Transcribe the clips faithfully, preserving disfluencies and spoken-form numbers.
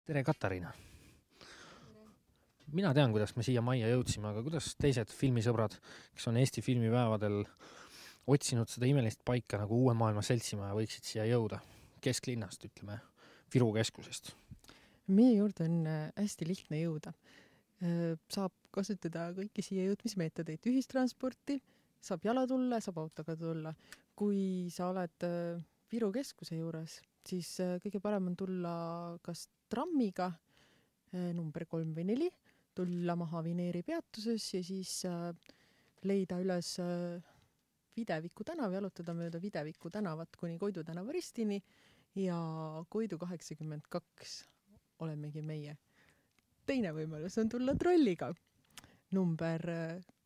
Tere, Katariina! Mina tean, kuidas me siia majja jõudsime, aga kuidas teised filmisõbrad, kes on Eesti filmipäevadel otsinud seda imelist paika nagu Uue Maailma Seltsimaja, võiksid siia jõuda kesklinnast, ütleme, Viru keskusest? Meie juurde on hästi lihtne jõuda. Saab kasutada kõiki siia jõudmismeetodeid, ühistransporti, saab jala tulla, saab autoga tulla. Kui sa oled Viru keskuse juures, siis kõige parem on tulla kas trammiga number kolm või neli, tulla maha Vineeri peatuses ja siis leida üles Videviku tänav, jalutada mööda Videviku tänavat kuni Koidu tänava ristini ja Koidu kaheksakümmend kaks olemegi meie. Teine võimalus on tulla trolliga number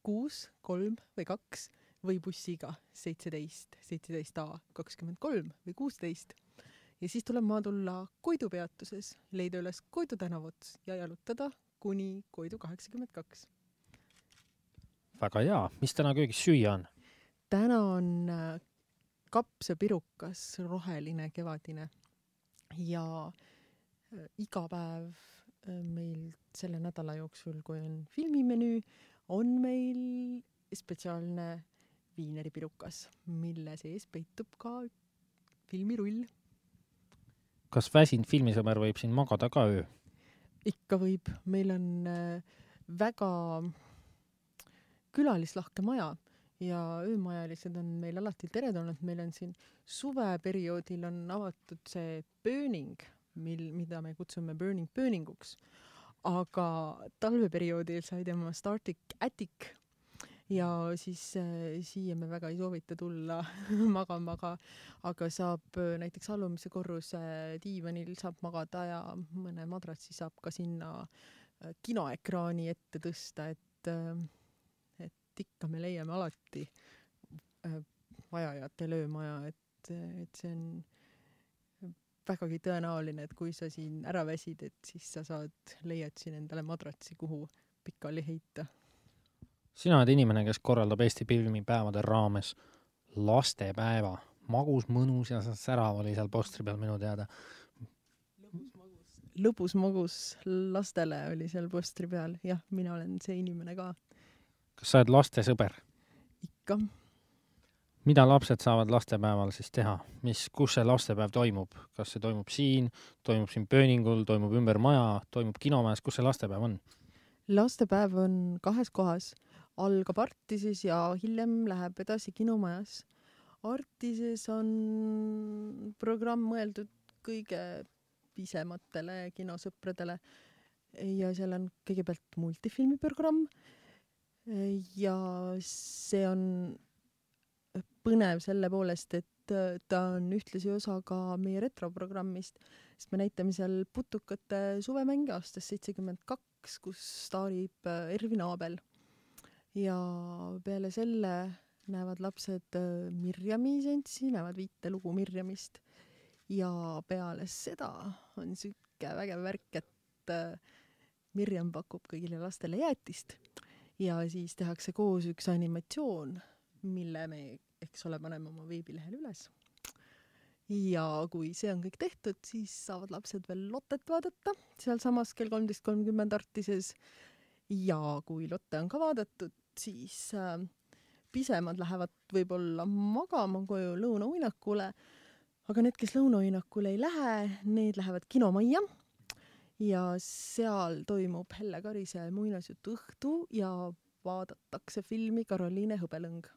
kuus, kolm või kaks või bussiga seitseteist, seitseteist A, kakskümmend kolm või kuusteist. Ja siis tuleb maa tulla Koidu peatuses, leida üles Koidu tänavat ja jalutada kuni Koidu kaheksakümmend kaks. Väga hea. Mis täna köögis süüa on? Täna on kapsapirukas, roheline, kevadine ja iga päev meil selle nädala jooksul, kui on filmimenüü, on meil spetsiaalne viineripirukas, mille sees peitub ka filmirull. Kas väsinud filmisõber võib siin magada ka öö? Ikka võib. Meil on väga külalislahke maja ja öömajalised on meil alati teretulnud. Meil on siin suveperioodil on avatud see burning, mil, mida me kutsume burning burninguks. Aga talveperioodil sai tema Startic Attic ja siis äh, siia me väga ei soovita tulla magama, aga, aga saab äh, näiteks alumise korruse diivanil saab magada ja mõne madratsi saab ka sinna äh, kinoekraani ette tõsta, et, äh, et ikka me leiame alati äh, vajajate löömaja, et, et see on vägagi tõenäoline, et kui sa siin ära väsid, et siis sa saad, leiad siin endale madratsi, kuhu pikali heita. Sina oled inimene, kes korraldab Eesti filmipäevade raames lastepäeva. Magus, mõnus ja särav oli seal postri peal minu teada. Lõbus magus lastele oli seal postri peal. Jah, mina olen see inimene ka. Kas sa oled laste sõber? Ikka. Mida lapsed saavad lastepäeval siis teha? Mis, kus see lastepäev toimub? Kas see toimub siin, toimub siin Pööningul, toimub ümber maja, toimub kinomäes? Kus see lastepäev on? Lastepäev on kahes kohas. Algab Artises ja hiljem läheb edasi kinomajas. Artises on programm mõeldud kõige pisematele kinosõpradele ja seal on kõigepealt multifilmiprogramm ja see on põnev selle poolest, et ta on ühtlasi osa ka meie retroprogrammist, sest me näitame seal putukate suvemänge aastast seitsekümmend kaks, kus staarib Ervin Aabel. Ja peale selle näevad lapsed Mirjami sentsi, näevad viite lugu Mirjamist ja peale seda on sükke vägev värk, et Mirjam pakub kõigile lastele jäätist ja siis tehakse koos üks animatsioon, mille me, eks ole, paneme oma veebilehel üles. Ja kui see on kõik tehtud, siis saavad lapsed veel Lottet vaadata seal samas kell kolmteist kolmkümmend Artises. Ja kui Lotte on ka vaadatud, siis äh, pisemad lähevad võib-olla magama koju lõunauinakule, aga need, kes lõunauinakule ei lähe, need lähevad kinomajja ja seal toimub Helle Karise muinasjutu õhtu ja vaadatakse filmi Karoliine Hõbelõng.